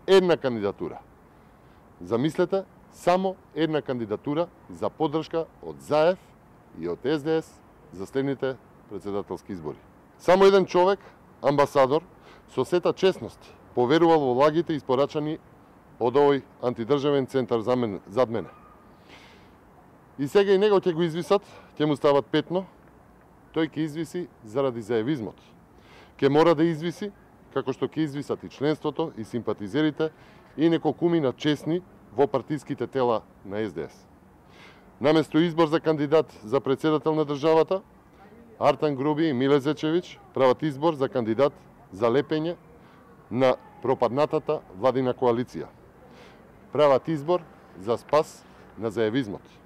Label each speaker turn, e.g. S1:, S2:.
S1: една кандидатура. Замислете, само една кандидатура за поддршка од ЗАЕВ и од СДС за следните председателски избори. Само еден човек, амбасадор, со сета честност, поверувал во лагите испорачани од овој антидржавен центар зад мене. И сега и него ќе го извисат, ќе му стават петно, тој ќе извиси заради заевизмот. Ќе мора да извиси, како што ќе извисат и членството, и симпатизерите, и неколкумина честни во партиските тела на СДС. Наместо избор за кандидат за председател на државата, Артан Груби и Миле Зечевич прават избор за кандидат за лепење на пропаднатата владина коалиција. Прават избор за спас на заевизмот.